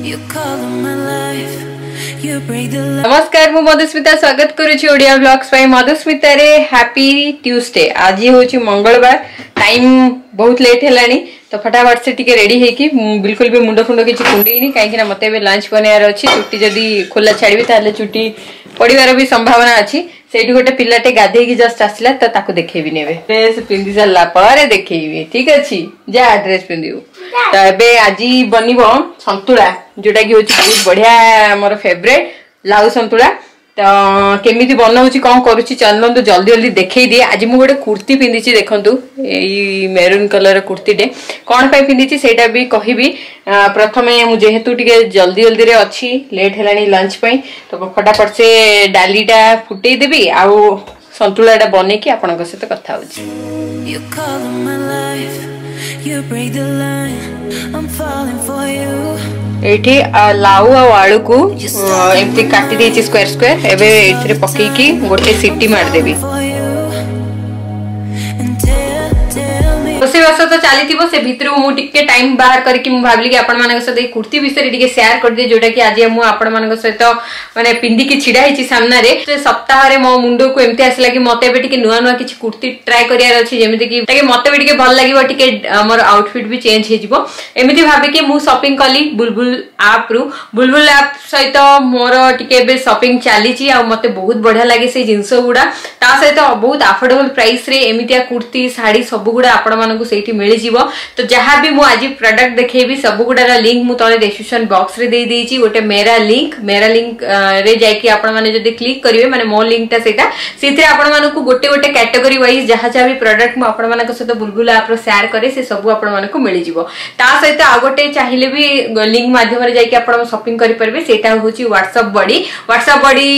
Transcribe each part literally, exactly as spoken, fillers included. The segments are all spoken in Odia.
You color my life. You break the ନମସ୍କାର ମୁଁ ମଧୁସ୍ମିତା ସ୍ୱାଗତ କରୁଛି ଓଡ଼ିଆ ବ୍ଲଗ୍ସ ପାଇଁ ମଧୁସ୍ମିତାରେ ହ୍ୟାପି ଟ୍ୟୁସଡେ ଆଜି ହେଉଛି ମଙ୍ଗଳବାର ଟାଇମ୍ ବହୁତ ଲେଟ୍ ହେଲାଣି ତ ଫଟାଫଟ ସେ ଟିକେ ରେଡି ହେଇକି ମୁଁ ବିଲକୁଲ ବି ମୁଣ୍ଡ ଫୁଣ୍ଡ କିଛି କୁଣ୍ଡେଇନି କାହିଁକି ନା ମତେ ଏବେ ଲଞ୍ଚ ବନେଇବାର ଅଛି ଚୁଟି ଯଦି ଖୋଲା ଛାଡ଼ିବି ତାହେଲେ ଚୁଟି ପଡ଼ିବାର ବି ସମ୍ଭାବନା ଅଛି ସେଇଠି ଗୋଟେ ପିଲାଟେ ଗାଧେଇକି ଜଷ୍ଟ ଆସିଲା ତ ତାକୁ ଦେଖେଇବିନି ଏବେ ଡ୍ରେସ୍ ପିନ୍ଧି ସାରିଲା ପରେ ଦେଖେଇବି ଠିକ ଅଛି ଯା ଡ୍ରେସ୍ ପିନ୍ଧିବୁ ତ ଏବେ ଆଜି ବନିବ ସନ୍ତୁଳା ଯୋଉଟା କି ହଉଛି ବହୁତ ବଢିଆ ମୋର ଫେଭରେଟ ଲାଉ ସନ୍ତୁଳା ତ କେମିତି ବନଉଛି କଣ କରୁଛି ଚାଲନ୍ତୁ ଜଲ୍ଦି ଜଲ୍ଦି ଦେଖେଇ ଦିଏ ଆଜି ମୁଁ ଗୋଟେ କୁର୍ତ୍ତି ପିନ୍ଧିଛି ଦେଖନ୍ତୁ ଏଇ ମେରୁନ୍ କଲର କୁର୍ତ୍ତିଟେ କଣ ପାଇଁ ପିନ୍ଧିଛି ସେଇଟା ବି କହିବି ଆ, ପ୍ରଥମେ ମୁଁ ଯେହେତୁ ଟିକେ ଜଲ୍ଦି ଜଲ୍ଦିରେ ଅଛି ଲେଟ୍ ହେଲାଣି ଲଞ୍ଚ ପାଇଁ ତ ଫଟାଫଟ ସେ ଡାଲିଟା ଫୁଟେଇ ଦେବି ଆଉ ସନ୍ତୁଳାଟା ବନେଇକି ଆପଣଙ୍କ ସହିତ କଥା ହଉଛି You color my life. You break the line. I'm falling for you. ଏଇଠି ଆ, ଲାଉ ଆଉ ଆଳୁକୁ ଅ, ଏମିତି କାଟି ଦେଇଛି ସ୍କୋୟାର ସ୍କୋୟାର ଏବେ ଏଇଥିରେ ପକେଇକି ଗୋଟେ city ମାରିଦେବି For you. And tell, tell me. ରୋଷେଇବାସ ତ ଚାଲିଥିବ ସେ ଭିତରୁ ମୁଁ ଟିକେ ଟାଇମ ବାହାର କରିକି ମୁଁ ଭାବିଲି କି ଆପଣମାନଙ୍କ ସହିତ ଏଇ କୁର୍ତ୍ତି ବିଷୟରେ ଟିକେ ସେୟାର କରିଦିଏ ଯୋଉଟା କି ଆଜି ମୁଁ ଆପଣମାନଙ୍କ ସହିତ ମାନେ ପିନ୍ଧିକି ଛିଡା ହେଇଛି ସାମ୍ନାରେ ସେ ସପ୍ତାହରେ ମୋ ମୁଣ୍ଡକୁ ଏମିତି ଆସିଲା କି ମତେ ଏବେ ଟିକେ ନୂଆ ନୂଆ କିଛି କୁର୍ତ୍ତି ଟ୍ରାଏ କରିବାର ଅଛି ଯେମିତି କି ତାକି ମତେ ବି ଟିକେ ଭଲ ଲାଗିବ ଟିକେ ମୋର ଆଉଟଫିଟ୍ ବି ଚେଞ୍ଜ ହେଇଯିବ ଏମିତି ଭାବିକି ମୁଁ ସପିଂ କଲି ବୁଲବୁଲ ଆପ୍ ରୁ ବୁଲବୁଲ ଆପ୍ ସହିତ ମୋର ଟିକେ ଏବେ ସପିଂ ଚାଲିଛି ଆଉ ମତେ ବହୁତ ବଢିଆ ଲାଗେ ସେଇ ଜିନିଷ ଗୁଡା ତା ସହିତ ବହୁତ ଆଫୋର୍ଡେବଲ ପ୍ରାଇସ ରେ ଏମିତିଆ କୁର୍ତ୍ତି ଶାଢୀ ସବୁଗୁଡା ଆପଣମାନଙ୍କୁ ସେଇଠି ମିଳିଯିବ ତ ଯାହା ବି ମୁଁ ଆଜି ପ୍ରଡକ୍ଟ ଦେଖେଇବି ସବୁଗୁଡାର ଲିଙ୍କ ମୁଁ ତଳେ ଡେସ୍କ୍ରିପସନ ବକ୍ସ ରେ ଦେଇ ଦେଇଛି ଗୋଟେ ମେରା ଲିଙ୍କ ମେରା ଲିଙ୍କ ରେ ଯାଇକି ଆପଣମାନେ ଯଦି କ୍ଲିକ୍ କରିବେ ମାନେ ମୋ ଲିଙ୍କଟା ସେଇଟା ସେଇଥିରେ ଆପଣମାନଙ୍କୁ ଗୋଟେ ଗୋଟେ କ୍ୟାଟେଗୋରୀ ୱାଇଜ ଯାହା ଯାହା ବି ପ୍ରଡକ୍ଟ ମୁଁ ଆପଣମାନଙ୍କ ସହିତ ବୁଲବୁଲ ଆପ୍ର ସେୟାର କରେ ସେ ସବୁ ଆପଣମାନଙ୍କୁ ମିଳିଯିବ ତା ସହିତ ଆଉ ଗୋଟେ ଚାହିଁଲେ ବି ଲିଙ୍କ ମାଧ୍ୟମରେ ଯାଇକି ଆପଣ ସପିଂ କରିପାରିବେ ସେଇଟା ହଉଛି ହ୍ୱାଟ୍ସଆପ୍ ବଡି ହ୍ୱାଟ୍ସଆପ୍ ବଡି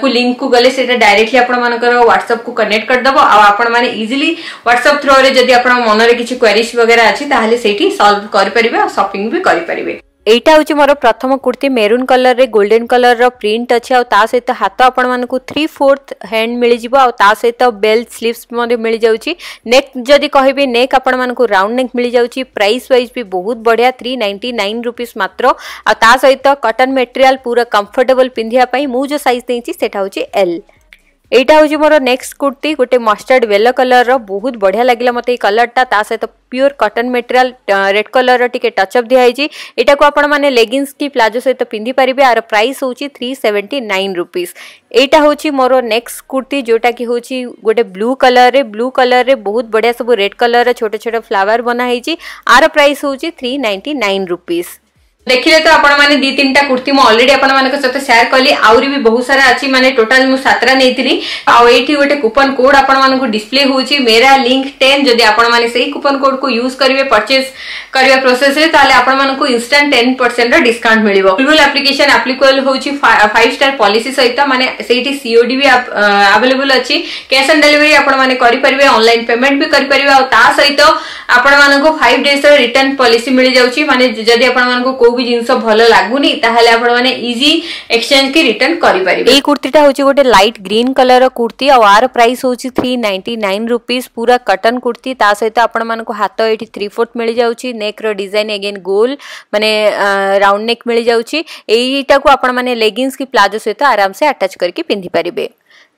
କୁ ଲିଙ୍କ କୁ ଗଲେ ସେଇଟା ଡାଇରେକ୍ଟଲି ଆପଣମାନଙ୍କର ହ୍ୱାଟ୍ସଆପ୍ କୁ କନେକ୍ଟ କରିଦବ ଆଉ ଆପଣମାନେ ଇଜିଲି ହ୍ୱାଟ୍ସଆପ୍ ଥ୍ରୋରେ ଯଦି ଆପଣଙ୍କ ମନରେ କିଛି କ୍ୱାରିଜ ବଗେରା ଅଛି ତାହେଲେ ସେଇଠି ସଲ୍ଭ କରିପାରିବେ ଆଉ ସପିଂ ବି କରିପାରିବେ ଏଇଟା ହେଉଛି ମୋର ପ୍ରଥମ କୁର୍ତ୍ତି ମେରୁନ୍ କଲରରେ ଗୋଲ୍ଡେନ୍ କଲରର ପ୍ରିଣ୍ଟ ଅଛି ଆଉ ତା ସହିତ ହାତ ଆପଣମାନଙ୍କୁ ଥ୍ରୀ ଫୋର୍ଥ ହ୍ୟାଣ୍ଡ ମିଳିଯିବ ଆଉ ତା ସହିତ ବେଲ୍ ସ୍ଲିଭ୍ସ ମଧ୍ୟ ମିଳିଯାଉଛି ନେକ୍ ଯଦି କହିବି ନେକ୍ ଆପଣମାନଙ୍କୁ ରାଉଣ୍ଡ ନେକ୍ ମିଳିଯାଉଛି ପ୍ରାଇସ୍ ୱାଇଜ୍ ବି ବହୁତ ବଢ଼ିଆ ଥ୍ରୀ ନାଇଣ୍ଟି ନାଇନ୍ ରୁପିସ୍ ମାତ୍ର ଆଉ ତା ସହିତ କଟନ୍ ମେଟେରିଆଲ ପୁରା କମ୍ଫର୍ଟେବଲ୍ ପିନ୍ଧିବା ପାଇଁ ମୁଁ ଯେଉଁ ସାଇଜ୍ ଦେଇଛି ସେଇଟା ହେଉଛି ଏଲ୍ ଏଇଟା ହେଉଛି ମୋର ନେକ୍ସଟ କୁର୍ତ୍ତି ଗୋଟେ ମଷ୍ଟାର୍ଡ ୟେଲୋ କଲରର ବହୁତ ବଢ଼ିଆ ଲାଗିଲା ମୋତେ ଏଇ କଲରଟା ତା ସହିତ ପିଓର କଟନ୍ ମେଟେରିଆଲ ରେଡ୍ କଲରର ଟିକେ ଟଚଅପ୍ ଦିଆହେଇଛି ଏଇଟାକୁ ଆପଣମାନେ ଲେଗିନ୍ସ କି ପ୍ଲାଜୋ ସହିତ ପିନ୍ଧିପାରିବେ ଆର ପ୍ରାଇସ୍ ହେଉଛି ଥ୍ରୀ ସେଭେଣ୍ଟି ନାଇନ୍ ରୁପିସ୍ ଏଇଟା ହେଉଛି ମୋର ନେକ୍ସଟ କୁର୍ତ୍ତି ଯୋଉଟା କି ହେଉଛି ଗୋଟେ ବ୍ଲୁ କଲରରେ ବ୍ଲୁ କଲରରେ ବହୁତ ବଢ଼ିଆ ସବୁ ରେଡ୍ କଲରର ଛୋଟ ଛୋଟ ଫ୍ଲାୱାର ବନା ହେଇଛି ଆର ପ୍ରାଇସ୍ ହେଉଛି ଥ୍ରୀ ନାଇଣ୍ଟି ନାଇନ୍ ରୁପିସ୍ ଦେଖିଲେ ତ ଆପଣମାନେ ଦି ତିନିଟା କୁର୍ତ୍ତି ମୁଁ ଅଲରେଡି ଆପଣମାନଙ୍କ ସହିତ ସେୟାର କଲି ଆହୁରି ବି ବହୁତ ସାରା ଅଛି ମାନେ ଟୋଟାଲ ମୁଁ ସାତଟା ନେଇଥିଲି ଆଉ ଏଇଠି ଗୋଟେ କୁପନ କୋଡ୍ ଆପଣମାନଙ୍କୁ ଡିସପ୍ଲେ ହଉଛି ମେରା ଲିଙ୍କ ଟେନ୍ ଯଦି ଆପଣମାନେ ସେଇ କୁପନ କୋଡ୍ କୁ ୟୁଜ କରିବେ ପରଚେଜ କରିବା ପ୍ରୋସେସରେ ତାହେଲେ ଆପଣମାନଙ୍କୁ ଇନଷ୍ଟାଣ୍ଟ ଟେନ୍ ପରସେଣ୍ଟ ର ଡିସକାଉଣ୍ଟ ମିଳିବ ବୁଲବୁଲ ଆପ୍ଲିକେସନ ଆପ୍ଲିକେବଲ ହଉଛି ଫାଇଭ ଷ୍ଟାର ପଲିସି ସହିତ ମାନେ ସେଇଠି ସିଓଡି ବି ଆଭେଲେବଲ ଅଛି କ୍ୟାଶ ଅନ୍ ଡେଲିଭରି ଆପଣମାନେ କରିପାରିବେ ଅନଲାଇନ ପେମେଣ୍ଟ ବି କରିପାରିବେ ଆଉ ତା ସହିତ ଆପଣମାନଙ୍କୁ ଫାଇଭ ଡେଜ୍ ର ରିଟର୍ନ ପଲିସି ମିଳିଯାଉଛି ମାନେ ଯଦି ଆପଣମାନଙ୍କୁ କୋଉ ବି ଜିନିଷ ଭଲ ଲାଗୁନି ତାହେଲେ ଆପଣମାନେ ଇଜି ଏକ୍ସଚେଞ୍ଜ କି ରିଟର୍ନ କରିପାରିବେ ଏଇ କୁର୍ତ୍ତିଟା ହେଉଛି ଗୋଟେ ଲାଇଟ୍ ଗ୍ରୀନ୍ କଲର କୁର୍ତ୍ତି ଆଉ ଆର ପ୍ରାଇସ୍ ହେଉଛି ଥ୍ରୀ ନାଇଣ୍ଟି ନାଇନ୍ ରୁପିସ୍ ପୁରା କଟନ୍ କୁର୍ତ୍ତି ତା ସହିତ ଆପଣମାନଙ୍କୁ ହାତ ଏଇଠି ଥ୍ରୀ ଫୋର୍ଥ ମିଳିଯାଉଛି ନେକ୍ର ଡିଜାଇନ ଏଗେନ୍ ଗୋଲ ମାନେ ରାଉଣ୍ଡ ନେକ୍ ମିଳିଯାଉଛି ଏଇଟାକୁ ଆପଣମାନେ ଲେଗିନ୍ସ କି ପ୍ଲାଜୋ ସହିତ ଆରାମସେ ଆଟାଚ୍ କରିକି ପିନ୍ଧିପାରିବେ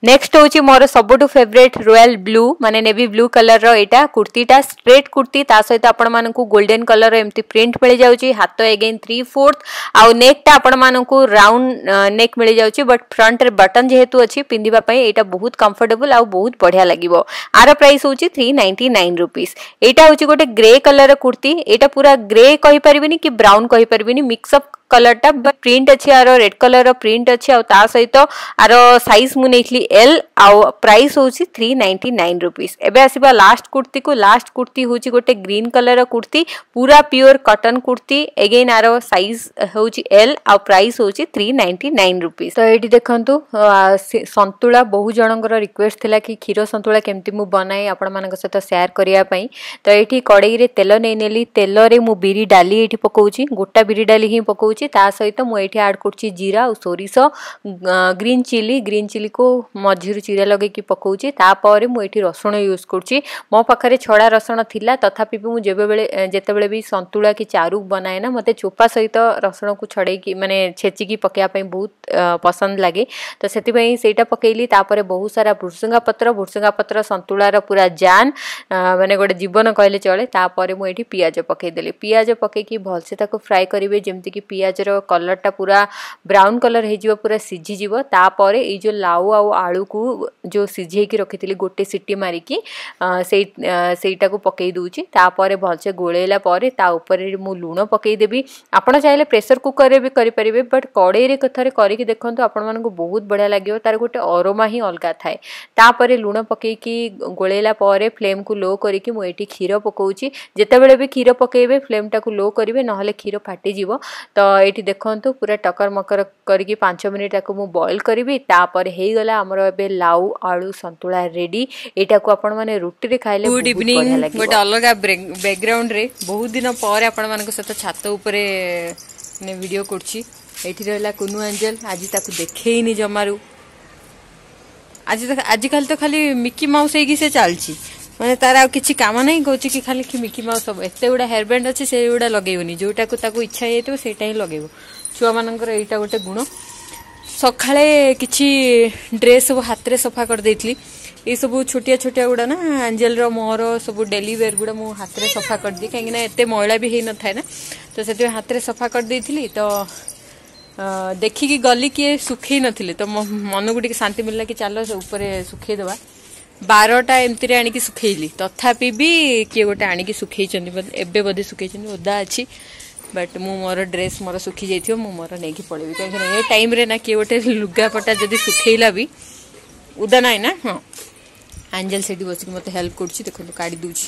ନେକ୍ସଟ ହେଉଛି ମୋର ସବୁଠୁ ଫେଭରେଟ୍ ରୟାଲ ବ୍ଲୁ ମାନେ ନେଭି ବ୍ଲୁ କଲରର ଏଇଟା କୁର୍ତ୍ତିଟା ଷ୍ଟ୍ରେଟ୍ କୁର୍ତ୍ତି ତା ସହିତ ଆପଣମାନଙ୍କୁ ଗୋଲ୍ଡେନ୍ କଲର ଏମିତି ପ୍ରିଣ୍ଟ ମିଳିଯାଉଛି ହାତ ଏଗେନ୍ ଥ୍ରୀ ଫୋର୍ଥ ଆଉ ନେକ୍ଟା ଆପଣମାନଙ୍କୁ ରାଉଣ୍ଡ ନେକ୍ ମିଳିଯାଉଛି ବଟ୍ ଫ୍ରଣ୍ଟରେ ବଟନ୍ ଯେହେତୁ ଅଛି ପିନ୍ଧିବା ପାଇଁ ଏଇଟା ବହୁତ କମ୍ଫର୍ଟେବଲ୍ ଆଉ ବହୁତ ବଢ଼ିଆ ଲାଗିବ ଆର ପ୍ରାଇସ୍ ହେଉଛି ଥ୍ରୀ ନାଇଣ୍ଟି ନାଇନ୍ ରୁପିସ୍ ଏଇଟା ହେଉଛି ଗୋଟେ ଗ୍ରେ କଲର କୁର୍ତ୍ତି ଏଇଟା ପୁରା ଗ୍ରେ କହିପାରିବିନି କି ବ୍ରାଉନ୍ କହିପାରିବିନି ମିକ୍ସଅପ୍ କଲରଟା ପ୍ରିଣ୍ଟ ଅଛି ଆର ରେଡ୍ କଲର ପ୍ରିଣ୍ଟ ଅଛି ଆଉ ତା ସହିତ ଆର ସାଇଜ୍ ମୁଁ ନେଇଥିଲି ଏଲ୍ ଆଉ ପ୍ରାଇସ୍ ହେଉଛି ଥ୍ରୀ ନାଇଣ୍ଟି ନାଇନ୍ ରୁପିସ୍ ଏବେ ଆସିବା ଲାଷ୍ଟ କୁର୍ତ୍ତିକୁ ଲାଷ୍ଟ କୁର୍ତ୍ତି ହେଉଛି ଗୋଟେ ଗ୍ରୀନ୍ କଲର କୁର୍ତ୍ତି ପୁରା ପିଓର କଟନ୍ କୁର୍ତ୍ତି ଏଗେନ୍ ଆର ସାଇଜ୍ ହେଉଛି ଏଲ୍ ଆଉ ପ୍ରାଇସ୍ ହେଉଛି ଥ୍ରୀ ନାଇଣ୍ଟି ନାଇନ୍ ରୁପିସ୍ ତ ଏଇଠି ଦେଖନ୍ତୁ ସନ୍ତୁଳା ବହୁ ଜଣଙ୍କର ରିକ୍ୱେଷ୍ଟ ଥିଲା କି କ୍ଷୀର ସନ୍ତୁଳା କେମିତି ମୁଁ ବନାଏ ଆପଣମାନଙ୍କ ସହିତ ସେୟାର କରିବା ପାଇଁ ତ ଏଇଠି କଡ଼େଇରେ ତେଲ ନେଇନେଲି ତେଲରେ ମୁଁ ବିରି ଡାଲି ଏଇଠି ପକାଉଛି ଗୋଟା ବିରି ଡାଲି ହିଁ ପକାଉଛି ପକାଉଛି। ତା ସହିତ ମୁଁ ଏଇଠି ଆଡ଼୍ କରୁଛି ଜିରା ଆଉ ସୋରିଷ, ଗ୍ରୀନ୍ ଚିଲି। ଗ୍ରୀନ୍ ଚିଲିକୁ ମଝିରୁ ଚିରା ଲଗେଇକି ପକାଉଛି। ତାପରେ ମୁଁ ଏଇଠି ରସୁଣ ୟୁଜ୍ କରୁଛି। ମୋ ପାଖରେ ଛଡ଼ା ରସୁଣ ଥିଲା, ତଥାପି ବି ମୁଁ ଯେବେବେଳେ ଯେତେବେଳେ ବି ସନ୍ତୁଳା କି ଚାରୁ ବନାଏ ନା, ମୋତେ ଚୋପା ସହିତ ରସୁଣକୁ ଛଡ଼େଇକି, ମାନେ ଛେଚିକି ପକାଇବା ପାଇଁ ବହୁତ ପସନ୍ଦ ଲାଗେ। ତ ସେଥିପାଇଁ ସେଇଟା ପକେଇଲି। ତାପରେ ବହୁତ ସାରା ଭୃସୁଙ୍ଗା ପତ୍ର। ଭୃସୁଙ୍ଗା ପତ୍ର ସନ୍ତୁଳାର ପୁରା ଜାନ୍, ମାନେ ଗୋଟେ ଜୀବନ କହିଲେ ଚଳେ। ତାପରେ ମୁଁ ଏଇଠି ପିଆଜ ପକେଇଦେଲି। ପିଆଜ ପକେଇକି ଭଲସେ ତାକୁ ଫ୍ରାଏ କରିବେ, ଯେମିତିକି ପିଆଜର କଲର୍ଟା ପୁରା ବ୍ରାଉନ୍ କଲର୍ ହେଇଯିବ, ପୁରା ସିଝିଯିବ। ତାପରେ ଏଇ ଯେଉଁ ଲାଉ ଆଉ ଆଳୁକୁ ଯେଉଁ ସିଝେଇକି ରଖିଥିଲି ଗୋଟେ ସିଟି ମାରିକି, ସେଇ ସେଇଟାକୁ ପକେଇ ଦେଉଛି। ତାପରେ ଭଲସେ ଗୋଳେଇଲା ପରେ ତା ଉପରେ ମୁଁ ଲୁଣ ପକେଇଦେବି। ଆପଣ ଚାହିଁଲେ ପ୍ରେସର କୁକରରେ ବି କରିପାରିବେ, ବଟ୍ କଡ଼େଇରେ ଥରେ କରିକି ଦେଖନ୍ତୁ, ଆପଣମାନଙ୍କୁ ବହୁତ ବଢ଼ିଆ ଲାଗିବ। ତାର ଗୋଟେ ଅରୋମା ହିଁ ଅଲଗା ଥାଏ। ତାପରେ ଲୁଣ ପକେଇକି ଗୋଳେଇଲା ପରେ ଫ୍ଲେମ୍କୁ ଲୋ କରିକି ମୁଁ ଏଇଠି କ୍ଷୀର ପକାଉଛି। ଯେତେବେଳେ ବି କ୍ଷୀର ପକାଇବେ, ଫ୍ଲେମ୍ଟାକୁ ଲୋ କରିବେ, ନହେଲେ କ୍ଷୀର ଫାଟିଯିବ। ତ ଏଇଠି ଦେଖନ୍ତୁ, ପୁରା ଟକର ମକର କରିକି ପାଞ୍ଚ ମିନିଟ୍ ତାକୁ ମୁଁ ବଏଲ୍ କରିବି। ତାପରେ ହେଇଗଲା ଆମର ଏବେ ଲାଉ ଆଳୁ ସନ୍ତୁଳା ରେଡି। ଏଇଟାକୁ ଆପଣମାନେ ରୁଟିରେ ଖାଇଲେ ଗୁଡ୍ ବହୁତ ଇଭିନିଂ। ବଢ଼ିଆ ଲାଗିବ। ଗୋଟେ ଅଲଗା ବ୍ୟାକଗ୍ରାଉଣ୍ଡରେ ବହୁତ ଦିନ ପରେ ଆପଣମାନଙ୍କ ସହିତ ଛାତ ଉପରେ ମାନେ ଭିଡ଼ିଓ କରୁଛି। ଏଇଠି ରହିଲା କୁନୁ ଆଞ୍ଜେଲ। ଆଜି ତାକୁ ଦେଖେଇନି ଜମାରୁ। ଆଜି ତ ଆଜିକାଲି ତ ଖାଲି ମିକି ମାଉସ ହେଇକି ସେ ଚାଲିଛି। ମାନେ ତାର ଆଉ କିଛି କାମ ନାହିଁ। କହୁଛି କି ଖାଲି କି ମିକି ମାଉସ ସବୁ। ଏତେ ଗୁଡ଼ା ହେୟାର ବ୍ୟାଣ୍ଡ ଅଛି, ସେଇଗୁଡ଼ା ଲଗେଇବନି, ଯୋଉଟାକୁ ତାକୁ ଇଚ୍ଛା ହେଇଯାଇଥିବ ସେଇଟା ହିଁ ଲଗେଇବ। ଛୁଆମାନଙ୍କର ଏଇଟା ଗୋଟେ ଗୁଣ। ସକାଳେ କିଛି ଡ୍ରେସ୍ ସବୁ ହାତରେ ସଫା କରିଦେଇଥିଲି। ଏଇସବୁ ଛୋଟିଆ ଛୋଟିଆ ଗୁଡ଼ା ନା, ଆଞ୍ଜେଲର ମୋର ସବୁ ଡେଲି ୱେର୍ ଗୁଡ଼ା ମୁଁ ହାତରେ ସଫା କରିଦିଏ, କାହିଁକିନା ଏତେ ମଇଳା ବି ହେଇନଥାଏ ନା, ତ ସେଥିପାଇଁ ହାତରେ ସଫା କରିଦେଇଥିଲି। ତ ଦେଖିକି ଗଲି କିଏ ଶୁଖେଇ ନଥିଲେ, ତ ମୋ ମନକୁ ଟିକେ ଶାନ୍ତି ମିଳିଲା କି ଚାଲ ସେ ଉପରେ ଶୁଖେଇଦେବା। ବାରଟା ଏମିତିରେ ଆଣିକି ଶୁଖେଇଲି, ତଥାପି ବି କିଏ ଗୋଟେ ଆଣିକି ଶୁଖେଇଛନ୍ତି ଏବେ ବୋଧେ। ଶୁଖେଇଛନ୍ତି, ଓଦା ଅଛି। ବଟ୍ ମୁଁ ମୋର ଡ୍ରେସ୍ ମୋର ଶୁଖି ଯାଇଥିବ, ମୁଁ ମୋର ନେଇକି ପଳେଇବି, କାହିଁକିନା ଏ ଟାଇମ୍ରେ ନା କିଏ ଗୋଟେ ଲୁଗାପଟା ଯଦି ଶୁଖେଇଲା ବି ଓଦା ନାହିଁ ନା। ହଁ, ଆଞ୍ଜେଲ ସେଇଠି ବସିକି ମୋତେ ହେଲ୍ପ କରୁଛି। ଦେଖନ୍ତୁ, କାଢ଼ି ଦେଉଛି।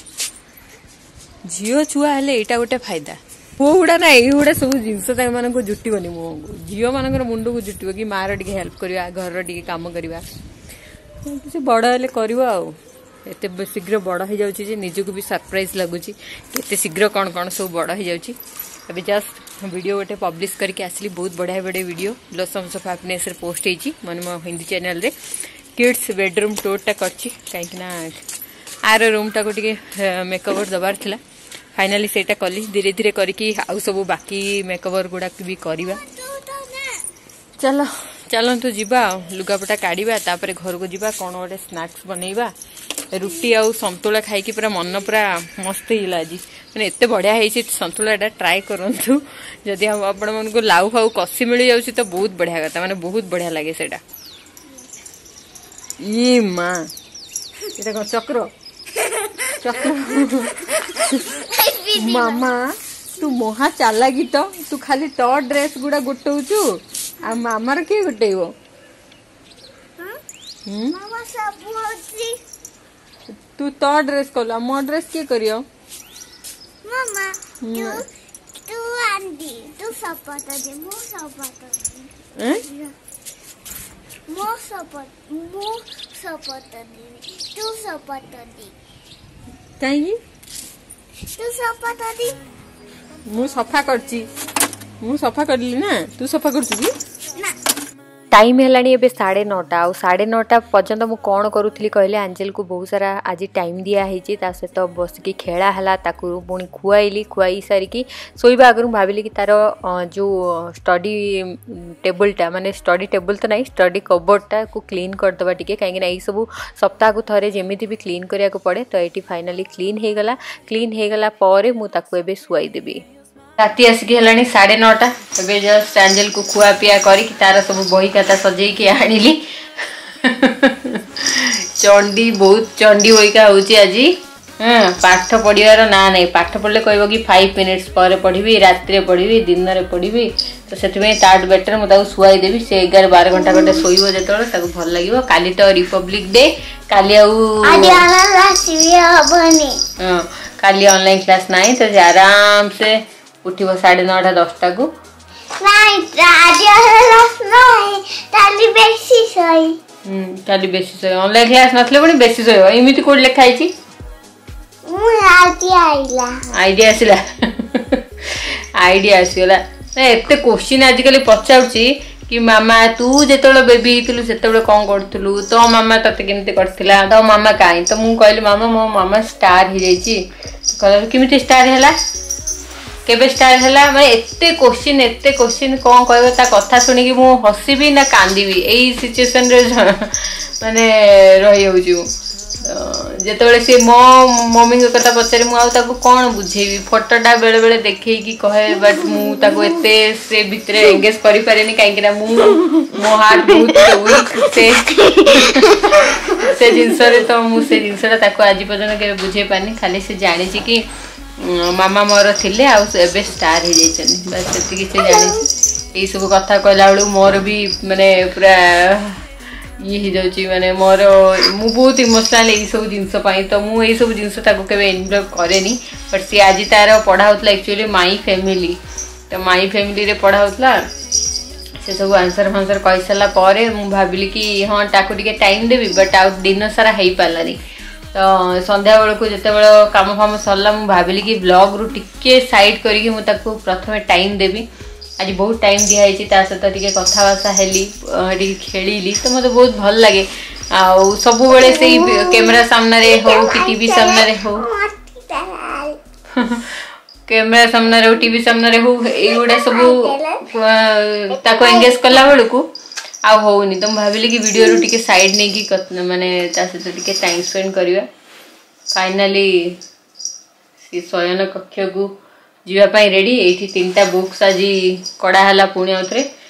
ଝିଅ ଛୁଆ ହେଲେ ଏଇଟା ଗୋଟେ ଫାଇଦା। ପୁଅ ଗୁଡ଼ା ନା ଏଇଗୁଡ଼ା ସବୁ ଜିନିଷ ତାମାନଙ୍କୁ ଜୁଟିବନି ମୁହଁକୁ। ଝିଅମାନଙ୍କର ମୁଣ୍ଡକୁ ଜୁଟିବ କି ମାର ଟିକେ ହେଲ୍ପ କରିବା, ଘରର ଟିକେ କାମ କରିବା। ସେ ବଡ଼ ହେଲେ କରିବ। ଆଉ ଏତେ ଶୀଘ୍ର ବଡ଼ ହେଇଯାଉଛି ଯେ ନିଜକୁ ବି ସରପ୍ରାଇଜ ଲାଗୁଛି, କେତେ ଶୀଘ୍ର କ'ଣ କ'ଣ ସବୁ ବଡ଼ ହେଇଯାଉଛି। ଏବେ ଜଷ୍ଟ ଭିଡ଼ିଓ ଗୋଟେ ପବ୍ଲିଶ କରିକି ଆସିଲି। ବହୁତ ବଢ଼ିଆ ବଢ଼ିଆ ଭିଡ଼ିଓ ବ୍ଲସମ୍ସ ଅଫ୍ ହାପିନେସ୍ରେ ପୋଷ୍ଟ ହେଇଛି, ମାନେ ମୋ ହିନ୍ଦୀ ଚ୍ୟାନେଲରେ। କିଡ୍ସ ବେଡରୁମ୍ ଟୁର୍ଟା କରିଛି, କାହିଁକିନା ଆର ରୁମ୍ଟାକୁ ଟିକେ ମେକଓଭର ଦେବାର ଥିଲା। ଫାଇନାଲି ସେଇଟା କଲି। ଧୀରେ ଧୀରେ କରିକି ଆଉ ସବୁ ବାକି ମେକଓଭର ଗୁଡ଼ାକ ବି କରିବା। ଚାଲ, ଚାଲନ୍ତୁ ଯିବା ଆଉ ଲୁଗାପଟା କାଢ଼ିବା, ତାପରେ ଘରକୁ ଯିବା, କ'ଣ ଗୋଟେ ସ୍ନାକ୍ସ ବନେଇବା। ରୁଟି ଆଉ ସନ୍ତୁଳା ଖାଇକି ପୁରା ମନ ପୁରା ମସ୍ତ ହେଇଗଲା ଆଜି। ମାନେ ଏତେ ବଢ଼ିଆ ହେଇଛି ସନ୍ତୁଳାଟା, ଟ୍ରାଏ କରନ୍ତୁ। ଯଦି ଆପଣମାନଙ୍କୁ ଲାଉ ଫାଉ କଷି ମିଳିଯାଉଛି ତ ବହୁତ ବଢ଼ିଆ କଥା, ମାନେ ବହୁତ ବଢ଼ିଆ ଲାଗେ ସେଇଟା। ଇ ମା, ଏଇଟା କ'ଣ ଚକ୍ର? ଚକ୍ର ମାମା, ତୁ ମହା ଚାଲାକି ତ। ତୁ ଖାଲି ତୋ ଡ୍ରେସ୍ ଗୁଡ଼ା ଗୋଟଉଛୁ, ଆଉ ମାମାର କିଏ ଗୋଟେଇବ? ହୁଁ, ତୁ ତୋ ଡ୍ରେସ୍ କଲୁ, ଆଉ ମୋ ଡ୍ରେସ୍ କିଏ କରିବ? ମାମା, ତୁ ତୁ ଆଣ୍ଡି ତୁ ସପତ ଦେ, ମୁଁ ସପତ ମୁଁ ସପତ ମୁଁ ସପତ ଦେବି, ତୁ ସପତ ଦେ। କାହିଁକି? ତୁ ସପତ ଦେ। ମୁଁ ସଫା କରିଛି, ମୁଁ ସଫା କରିଲି ନା। ତୁ ସଫା କରୁଛୁ କି? ନା। ଟାଇମ୍ ହେଲାଣି ଏବେ ସାଢ଼େ ନଅଟା। ଆଉ ସାଢ଼େ ନଅଟା ପର୍ଯ୍ୟନ୍ତ ମୁଁ କ'ଣ କରୁଥିଲି କହିଲେ, ଆଞ୍ଜେଲକୁ ବହୁତ ସାରା ଆଜି ଟାଇମ୍ ଦିଆହେଇଛି। ତା ସହିତ ବସିକି ଖେଳା ହେଲା, ତାକୁ ପୁଣି ଖୁଆଇଲି। ଖୁଆଇ ସାରିକି ଶୋଇବା ଆଗରୁ ମୁଁ ଭାବିଲି କି ତାର ଯେଉଁ ଷ୍ଟଡି ଟେବୁଲଟା, ମାନେ ଷ୍ଟଡି ଟେବୁଲ ତ ନାହିଁ, ଷ୍ଟଡି କବର୍ଡ଼ଟାକୁ କ୍ଲିନ୍ କରିଦେବା ଟିକେ, କାହିଁକିନା ଏଇସବୁ ସପ୍ତାହକୁ ଥରେ ଯେମିତି ବି କ୍ଲିନ୍ କରିବାକୁ ପଡ଼େ। ତ ଏଇଠି ଫାଇନାଲି କ୍ଲିନ୍ ହେଇଗଲା। କ୍ଲିନ୍ ହେଇଗଲା ପରେ ମୁଁ ତାକୁ ଏବେ ଶୁଆଇଦେବି। ରାତି ଆସିକି ହେଲାଣି ସାଢ଼େ ନଅଟା। ଏବେ ଜଷ୍ଟ ଆଞ୍ଜେଲକୁ ଖୁଆ ପିଆ କରିକି ତାର ସବୁ ବହି ଖାତା ସଜେଇକି ଆଣିଲି। ଚଣ୍ଡି, ବହୁତ ଚଣ୍ଡି ବହିକା ହଉଛି ଆଜି। ହଁ, ପାଠ ପଢ଼ିବାର ନାଁ ନାହିଁ। ପାଠ ପଢ଼ିଲେ କହିବ କି ଫାଇଭ୍ ମିନିଟ୍ସ ପରେ ପଢ଼ିବି, ରାତିରେ ପଢ଼ିବି, ଦିନରେ ପଢ଼ିବି। ତ ସେଥିପାଇଁ ତାଠୁ ବେଟର ମୁଁ ତାକୁ ଶୁଆଇ ଦେବି। ସେ ଏଗାର ବାର ଘଣ୍ଟା ଘଣ୍ଟା ଶୋଇବ ଯେତେବେଳେ, ତାକୁ ଭଲ ଲାଗିବ। କାଲି ତ ରିପବ୍ଲିକ ଡେ, କାଲି ଆଉ ଆଜି ହବନି। ହଁ, କାଲି ଅନଲାଇନ୍ କ୍ଲାସ୍ ନାହିଁ, ତ ସେ ଆରାମସେ ଉଠିବ ସାଢ଼େ ନଅଟା ଦଶଟାକୁ। ନାଇଁ, ଆଜି ନାଇଁ, କାଲି ବେଶୀ ଶୋଇ। ହୁଁ, କାଲି ବେଶୀ ଶୋଇବ। ଅନଲାଇନ୍ କ୍ଲାସ୍ ନଥିଲେ ପୁଣି ବେଶୀ ଶୋଇବ, ଏମିତି କୋଉଠି ଲେଖା ହେଇଛି? ମୁଁ ଆଇଡିଆ ଆଇଲା। ଆଇଡିଆ ଆସିଲା, ଆଇଡିଆ ଆସିଗଲା। ମାନେ ଏତେ କୋଶ୍ଚିନ୍ ଆଜିକାଲି ପଚାରୁଛି କି ମାମା ତୁ ଯେତେବେଳେ ବେବି ହେଇଥିଲୁ ସେତେବେଳେ କ'ଣ କରୁଥିଲୁ ତୋ ମାମା ତତେ କେମିତି କରିଥିଲା ତୋ ମାମା କାହିଁ ତ ମୁଁ କହିଲି ମାମା ମୋ ମାମା ଷ୍ଟାର ହେଇଯାଇଛି କହିଲା କେମିତି ଷ୍ଟାର ହେଲା କେବେ ଷ୍ଟାର ହେଲା ମାନେ ଏତେ କୋଶ୍ଚିନ୍ ଏତେ କୋଶ୍ଚିନ୍ କ'ଣ କହିବ ତା କଥା ଶୁଣିକି ମୁଁ ହସିବି ନା କାନ୍ଦିବି ଏଇ ସିଚୁଏସନରେ ମାନେ ରହିଯାଉଛି ମୁଁ ତ ଯେତେବେଳେ ସିଏ ମୋ ମମିଙ୍କ କଥା ପଚାରେ ମୁଁ ଆଉ ତାକୁ କ'ଣ ବୁଝେଇବି ଫଟୋଟା ବେଳେ ବେଳେ ଦେଖେଇକି କହେ ବଟ୍ ମୁଁ ତାକୁ ଏତେ ସେ ଭିତରେ ଏଙ୍ଗେଜ କରିପାରେନି କାହିଁକି ନା ମୁଁ ମୋ ହାର୍ଟ ବହୁତ ୱିକ୍ ସେ ସେ ଜିନିଷରେ ତ ମୁଁ ସେ ଜିନିଷଟା ତାକୁ ଆଜି ପର୍ଯ୍ୟନ୍ତ କେବେ ବୁଝେଇ ପାରିନି ଖାଲି ସେ ଜାଣିଛି କି ଉଁ, ମାମା ମୋର ଥିଲେ ଆଉ ସେ ଏବେ ଷ୍ଟାର ହେଇଯାଇଛନ୍ତି ବାସ୍ ସେତିକି ସେ ଜାଣିଛି ଏଇସବୁ କଥା କହିଲା ବେଳକୁ ମୋର ବି ମାନେ ପୁରା ଇଏ ହେଇଯାଉଛି ମାନେ ମୋର ମୁଁ ବହୁତ ଇମୋସନାଲ ଏଇସବୁ ଜିନିଷ ପାଇଁ ତ ମୁଁ ଏଇସବୁ ଜିନିଷ ତାକୁ କେବେ ଇନଭଲ୍ଭ କରେନି ବଟ୍ ସିଏ ଆଜି ତାର ପଢ଼ା ହେଉଥିଲା ଆକ୍ଚୁଆଲି my family ତ ମାଇ ଫ୍ୟାମିଲିରେ ପଢ଼ା ହେଉଥିଲା ସେ ସବୁ ଆନ୍ସର ଫାନ୍ସର କହିସାରିଲା ପରେ ମୁଁ ଭାବିଲି କି ହଁ ତାକୁ ଟିକେ ଟାଇମ୍ ଦେବି ବଟ୍ ଆଉ ଦିନ ସାରା ହେଇପାରିଲାନି ତ ସନ୍ଧ୍ୟାବେଳକୁ ଯେତେବେଳେ କାମ ଫାମ ସରିଲା ମୁଁ ଭାବିଲି କି ବ୍ଲଗ୍ରୁ ଟିକେ ସାଇଡ଼୍ କରିକି ମୁଁ ତାକୁ ପ୍ରଥମେ ଟାଇମ୍ ଦେବି ଆଜି ବହୁତ ଟାଇମ୍ ଦିଆହେଇଛି ତା ସହିତ ଟିକେ କଥାବାର୍ତ୍ତା ହେଲି ଅ, ଟିକେ ଖେଳିଲି ତ ମୋତେ ବହୁତ ଭଲ ଲାଗେ ଆଉ ସବୁବେଳେ ସେଇ କ୍ୟାମେରା ସାମ୍ନାରେ ହଉ କି ଟିଭି ସାମ୍ନାରେ ହଉ କ୍ୟାମେରା ସାମ୍ନାରେ ହଉ ଟିଭି ସାମ୍ନାରେ ହଉ ଏଇଗୁଡ଼ା ସବୁ ଅ, ତାକୁ ଏଙ୍ଗେଜ କଲା ବେଳକୁ ଆଉ ହଉନି ତ ମୁଁ ଭାବିଲି କି ଭିଡ଼ିଓରୁ ଟିକେ ସାଇଡ୍ ନେଇକି କତ- ମାନେ ତା ସହିତ ଟିକେ ଟାଇମ୍ ସ୍ପେଣ୍ଡ କରିବା ଫାଇନାଲି ସେ ଶୟନ କକ୍ଷକୁ ଯିବା ପାଇଁ ରେଡ଼ି ଏଇଠି ତିନିଟା ବୁକ୍ସ ଆଜି କଢ଼ା ହେଲା ପୁଣି ଆଉଥରେ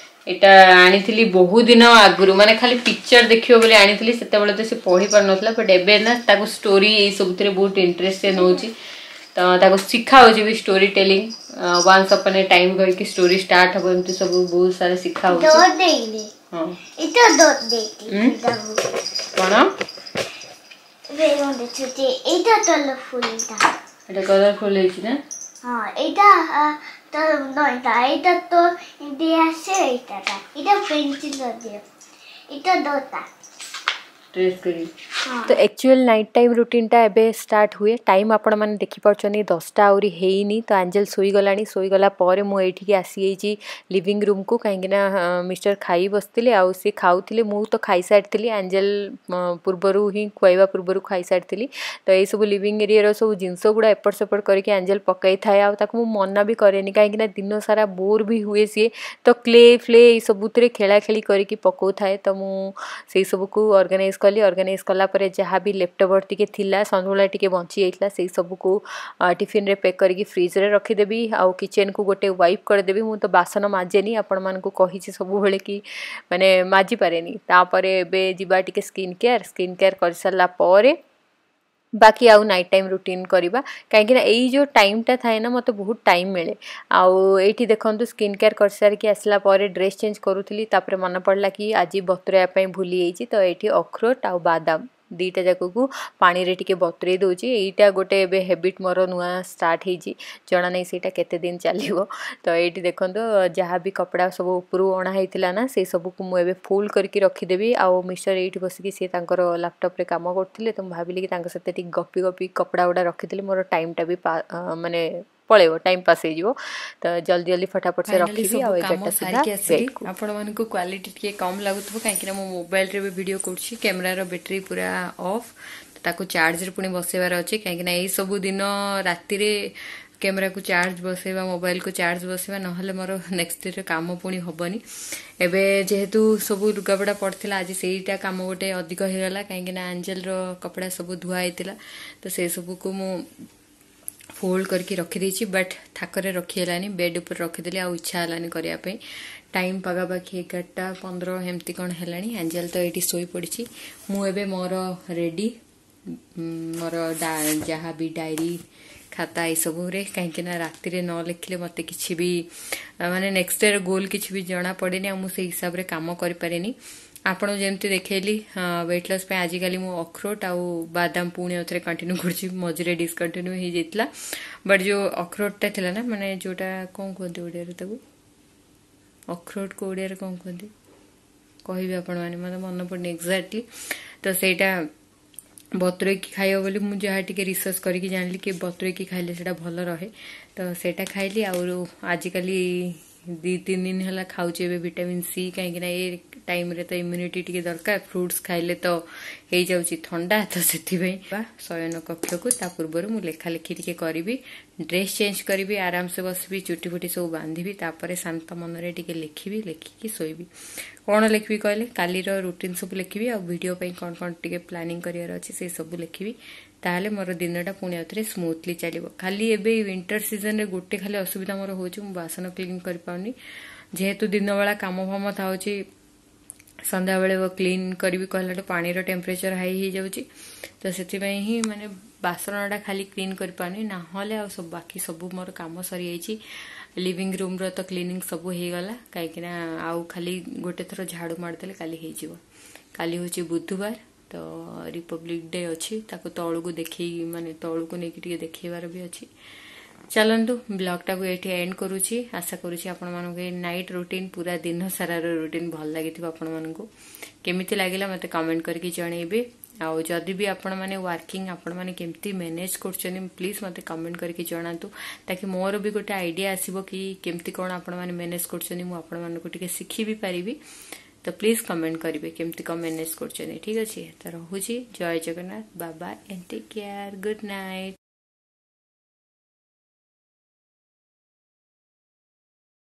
ଏଇଟା ଆଣିଥିଲି ବହୁ ଦିନ ଆଗରୁ ମାନେ ଖାଲି ପିକ୍ଚର ଦେଖିବ ବୋଲି ଆଣିଥିଲି ସେତେବେଳେ ତ ସେ ପଢ଼ି ପାରୁନଥିଲା ବଟ୍ ଏବେ ନା ତାକୁ ଷ୍ଟୋରି ଏଇ ସବୁଥିରେ ବହୁତ ଇଣ୍ଟରେଷ୍ଟ ସେ ନେଉଛି ତ ତାକୁ ଶିଖା ହେଉଛି ବି story telling once upon a time କହିକି ଷ୍ଟୋରି ଷ୍ଟାର୍ଟ ହବ ଏମିତି ସବୁ ବହୁତ ସାରା ଶିଖା ହେଉଛି ଦୌଡ଼ ଦେଇନି ହଁ এটা ଦୌଡ଼ ଦେଇଛି ହୁଁ? କ'ଣ এইটা তল ফুলটা ଏଇଟା କଲରଫୁଲ ହେଇଛି ନା হ্যাঁ এইটা তো নয়টা এইটা তো দিয়ে আসে এইটাটা এটা পেন্সিল দিয়ে এটা দোটা ଡ୍ରେସ୍ କରିବି ହଁ ତ ଆକ୍ଚୁଆଲ୍ ନାଇଟ୍ ଟାଇମ୍ ରୁଟିନ୍ଟା ଏବେ ଷ୍ଟାର୍ଟ ହୁଏ ଟାଇମ୍ ଆପଣମାନେ ଦେଖିପାରୁଛନ୍ତି ଦଶଟା ଆହୁରି ହେଇନି ତ ଆଞ୍ଜେଲ ଶୋଇଗଲାଣି ଶୋଇଗଲା ପରେ ମୁଁ ଏଇଠିକି ଆସିଯାଇଛି ଲିଭିଂ ରୁମ୍କୁ କାହିଁକିନା ମିଷ୍ଟର ଖାଇ ବସିଥିଲେ ଆଉ ସେ ଖାଉଥିଲେ ମୁଁ ତ ଖାଇସାରିଥିଲି ଆଞ୍ଜେଲ ପୂର୍ବରୁ ହିଁ ଖୁଆଇବା ପୂର୍ବରୁ ଖାଇସାରିଥିଲି ତ ଏଇସବୁ ଲିଭିଂ ଏରିଆର ସବୁ ଜିନିଷ ଗୁଡ଼ା ଏପଟ ସେପଟ କରିକି ଆଞ୍ଜେଲ ପକାଇଥାଏ ଆଉ ତାକୁ ମୁଁ ମନା ବି କରେନି କାହିଁକିନା ଦିନ ସାରା ବୋର୍ ବି ହୁଏ ସିଏ ତ କ୍ଲେ ଫ୍ଲେ ଏଇସବୁଥିରେ ଖେଳା ଖେଳି କରିକି ପକାଉଥାଏ ତ ମୁଁ ସେଇ ସବୁକୁ ଅର୍ଗାନାଇଜ୍ କଲି ଅର୍ଗାନାଇଜ୍ କଲା ପରେ ଯାହା ବି ଲେଫ୍ଟ ଟିକେ ଥିଲା ସନ୍ତୁଳା ଟିକେ ବଞ୍ଚି ଯାଇଥିଲା ସେଇ ସବୁକୁ ଟିଫିନରେ ପ୍ୟାକ୍ କରିକି ଫ୍ରିଜରେ ରଖିଦେବି ଆଉ କିଚେନକୁ ଗୋଟେ ୱାଇପ୍ କରିଦେବି ମୁଁ ତ ବାସନ ମାଜେନି ଆପଣମାନଙ୍କୁ କହିଛି ସବୁବେଳେ କି ମାନେ ମାଜିପାରେନି ତାପରେ ଏବେ ଯିବା ଟିକେ ସ୍କିନ୍ କେୟାର ସ୍କିନ୍ କେୟାର କରିସାରିଲା ପରେ ବାକି ଆଉ ନାଇଟ୍ ଟାଇମ୍ ରୁଟିନ୍ କରିବା କାହିଁକିନା ଏଇ ଯେଉଁ ଟାଇମ୍ଟା ଥାଏ ନା ମୋତେ ବହୁତ ଟାଇମ୍ ମିଳେ ଆଉ ଏଇଠି ଦେଖନ୍ତୁ ସ୍କିନ୍ କେୟାର କରିସାରିକି ଆସିଲା ପରେ ଡ୍ରେସ୍ ଚେଞ୍ଜ କରୁଥିଲି ତାପରେ ମନେ ପଡ଼ିଲା କି ଆଜି ବତୁରାଇବା ପାଇଁ ଭୁଲି ଯାଇଛି ତ ଏଇଠି ଅଖରୋଟ ଆଉ ବାଦାମ ଦୁଇଟା ଯାକକୁ ପାଣିରେ ଟିକେ ବତୁରେଇ ଦେଉଛି ଏଇଟା ଗୋଟେ ଏବେ ହେବିଟ୍ ମୋର ନୂଆ ଷ୍ଟାର୍ଟ ହେଇଛି ଜଣା ନାହିଁ ସେଇଟା କେତେ ଦିନ ଚାଲିବ ତ ଏଇଠି ଦେଖନ୍ତୁ ଯାହା ବି କପଡ଼ା ସବୁ ଉପରୁ ଅଣା ହେଇଥିଲା ନା ସେଇ ସବୁକୁ ମୁଁ ଏବେ ଫୋଲ୍ଡ କରିକି ରଖିଦେବି ଆଉ ମିଷ୍ଟର ଏଇଠି ବସିକି ସିଏ ତାଙ୍କର ଲାପଟପ୍ରେ କାମ କରୁଥିଲେ ତ ମୁଁ ଭାବିଲି କି ତାଙ୍କ ସହିତ ଟିକେ ଗପି ଗପି କପଡ଼ା ଗୁଡ଼ା ରଖିଦେଲେ ମୋର ଟାଇମ୍ଟା ବି ମାନେ ପଳେଇବ ଟାଇମ୍ ପାସ୍ ହେଇଯିବ ତ ଜଲ୍ଦି ଜଲ୍ଦି ଫଟାଫଟ ସେ ଫାଇନାଲି ରଖିବି ସବୁ ଆଉ କାମ ଏଗାରଟା ସୁଦ୍ଧା ସାରିକି ଆସିଲି ବେଡ଼କୁ ଆପଣମାନଙ୍କୁ କ୍ୱାଲିଟି ଟିକେ କମ୍ ଲାଗୁଥିବ କାହିଁକିନା ମୁଁ ମୋବାଇଲରେ ବି ଭିଡ଼ିଓ କରୁଛି କ୍ୟାମେରାର ବ୍ୟାଟେରୀ ପୁରା ଅଫ୍ ତାକୁ ଚାର୍ଜରେ ପୁଣି ବସେଇବାର ଅଛି କାହିଁକିନା ଏଇ ସବୁ ଦିନ ରାତିରେ କ୍ୟାମେରାକୁ ଚାର୍ଜ ବସେଇବା ମୋବାଇଲକୁ ଚାର୍ଜ ବସେଇବା ନହେଲେ ମୋର ନେକ୍ସଟ ଡେରେ କାମ ପୁଣି ହବନି ଏବେ ଯେହେତୁ ସବୁ ଲୁଗାପଟା ପଡ଼ିଥିଲା ଆଜି ସେଇଟା କାମ ଗୋଟେ ଅଧିକ ହେଇଗଲା କାହିଁକିନା ଆଞ୍ଜେଲର କପଡ଼ା ସବୁ ଧୁଆ ହେଇଥିଲା ତ ସେ ସବୁକୁ ମୁଁ ଫୋଲ୍ଡ କରିକି ରଖିଦେଇଛି ବଟ୍ ଥାକରେ ରଖି ହେଲାନି ବେଡ୍ ଉପରେ ରଖିଦେଲି ଆଉ ଇଚ୍ଛା ହେଲାନି କରିବା ପାଇଁ ଟାଇମ୍ ପାଖାପାଖି ଏଗାରଟା ପନ୍ଦର ଏମିତି କ'ଣ ହେଲାଣି ଆଞ୍ଜେଲ ତ ଏଇଠି ଶୋଇପଡ଼ିଛି ମୁଁ ଏବେ ମୋର ରେଡ଼ି ମୋର ଯାହା ବି ଡାଏରୀ ଖାତା ଏସବୁରେ କାହିଁକିନା ରାତିରେ ନ ଲେଖିଲେ ମୋତେ କିଛି ବି ମାନେ ନେକ୍ସଟ ଡେର ଗୋଲ୍ କିଛି ବି ଜଣା ପଡ଼େନି ଆଉ ମୁଁ ସେଇ ହିସାବରେ କାମ କରିପାରେନି ଆପଣ ଯେମିତି ଦେଖେଇଲି ୱେଟ୍ ଲସ୍ ପାଇଁ ଆଜିକାଲି ମୁଁ ଅଖରୋଟ ଆଉ ବାଦାମ ପୁଣି ଆଉଥରେ କଣ୍ଟିନ୍ୟୁ କରୁଛି ମଝିରେ ଡିସକଣ୍ଟିନ୍ୟୁ ହେଇଯାଇଥିଲା ବଟ୍ ଯେଉଁ ଅଖରୋଟଟା ଥିଲା ନା ମାନେ ଯେଉଁଟା କ'ଣ କୁହନ୍ତି ଓଡ଼ିଆରେ ତାକୁ ଅଖରୋଟକୁ ଓଡ଼ିଆରେ କ'ଣ କୁହନ୍ତି କହିବେ ଆପଣମାନେ ମୋତେ ମନେ ପଡ଼ୁନି ଏକ୍ଜାକ୍ଟଲି ତ ସେଇଟା ବତୁରେଇକି ଖାଇବ ବୋଲି ମୁଁ ଯାହା ଟିକେ ରିସର୍ଚ୍ଚ କରିକି ଜାଣିଲି କି ବତୁରେଇକି ଖାଇଲେ ସେଇଟା ଭଲ ରହେ ତ ସେଇଟା ଖାଇଲି ଆଉ ଆଜିକାଲି ଦୁଇ ତିନି ଦିନ ହେଲା ଖାଉଛି ଏବେ ଭିଟାମିନ୍ ସି, କାହିଁକିନା ଏ ଟାଇମ୍ରେ ତ ଇମ୍ୟୁନିଟି ଟିକେ ଦରକାର। ଫ୍ରୁଟ୍ସ ଖାଇଲେ ତ ହେଇଯାଉଛି ଥଣ୍ଡା, ତ ସେଥିପାଇଁ ବା ଶୟନ କକ୍ଷକୁ। ତା ପୂର୍ବରୁ ମୁଁ ଲେଖାଲେଖି ଟିକେ କରିବି, ଡ୍ରେସ୍ ଚେଞ୍ଜ କରିବି, ଆରାମସେ ବସିବି, ଚୁଟି ଫୁଟି ସବୁ ବାନ୍ଧିବି, ତାପରେ ଶାନ୍ତ ମନରେ ଟିକେ ଲେଖିବି, ଲେଖିକି ଶୋଇବି। କ'ଣ ଲେଖିବି କହିଲେ, କାଲିର ରୁଟିନ୍ ସବୁ ଲେଖିବି, ଆଉ ଭିଡ଼ିଓ ପାଇଁ କ'ଣ କ'ଣ ଟିକେ ପ୍ଲାନିଂ କରିବାର ଅଛି ସେଇ ସବୁ ଲେଖିବି। ତାହେଲେ ମୋର ଦିନଟା ପୁଣି ଆଉଥରେ ସ୍ମୁଥଲି ଚାଲିବ। ଖାଲି ଏବେ ୱିଣ୍ଟର ସିଜନରେ ଗୋଟେ ଖାଲି ଅସୁବିଧା ମୋର ହେଉଛି, ମୁଁ ବାସନ କ୍ଲିନ୍ କରିପାରୁନି। ଯେହେତୁ ଦିନବେଳା କାମ ଫାମ ଥାଉଛି, ସନ୍ଧ୍ୟାବେଳେ କ୍ଲିନ୍ କରିବି କହିଲାଠୁ ପାଣିର ଟେମ୍ପରେଚର ହାଇ ହେଇଯାଉଛି, ତ ସେଥିପାଇଁ ହିଁ ମାନେ ବାସନଟା ଖାଲି କ୍ଲିନ୍ କରିପାରୁନି। ନହେଲେ ଆଉ ସବୁ ବାକି ସବୁ ମୋର କାମ ସରିଯାଇଛି। ଲିଭିଂ ରୁମ୍ର ତ କ୍ଲିନିଂ ସବୁ ହେଇଗଲା, କାହିଁକିନା ଆଉ ଖାଲି ଗୋଟେ ଥର ଝାଡ଼ୁ ମାରିଦେଲେ କାଲି ହେଇଯିବ। କାଲି ହେଉଛି ବୁଧବାର, ତ ରିପବ୍ଲିକ ଡେ ଅଛି, ତାକୁ ତଳକୁ ଦେଖେଇ ମାନେ ତଳକୁ ନେଇକି ଟିକେ ଦେଖେଇବାର ବି ଅଛି। ଚାଲନ୍ତୁ, ବ୍ଲଗ୍ଟାକୁ ଏଇଠି ଏଣ୍ଡ କରୁଛି। ଆଶା କରୁଛି ଆପଣମାନଙ୍କୁ ଏ ନାଇଟ୍ ରୁଟିନ୍, ପୁରା ଦିନ ସାରାର ରୁଟିନ୍ ଭଲ ଲାଗିଥିବ। ଆପଣମାନଙ୍କୁ କେମିତି ଲାଗିଲା ମୋତେ କମେଣ୍ଟ କରିକି ଜଣେଇବେ। ଆଉ ଯଦି ବି ଆପଣମାନେ ୱାର୍କିଂ, ଆପଣମାନେ କେମିତି ମ୍ୟାନେଜ୍ କରୁଛନ୍ତି, ପ୍ଲିଜ୍ ମୋତେ କମେଣ୍ଟ କରିକି ଜଣାନ୍ତୁ, ତାକି ମୋର ବି ଗୋଟେ ଆଇଡ଼ିଆ ଆସିବ କି କେମିତି କ'ଣ ଆପଣମାନେ ମ୍ୟାନେଜ୍ କରୁଛନ୍ତି, ମୁଁ ଆପଣମାନଙ୍କୁ ଟିକେ ଶିଖି ବି ପାରିବି। ତ ପ୍ଲିଜ୍ କମେଣ୍ଟ କରିବେ କେମିତି କ'ଣ ମ୍ୟାନେଜ୍ କରୁଛନ୍ତି। ଠିକ୍ ଅଛି, ତ ରହୁଛି। ଜୟ ଜଗନ୍ନାଥ, ବାବା and take care, good night.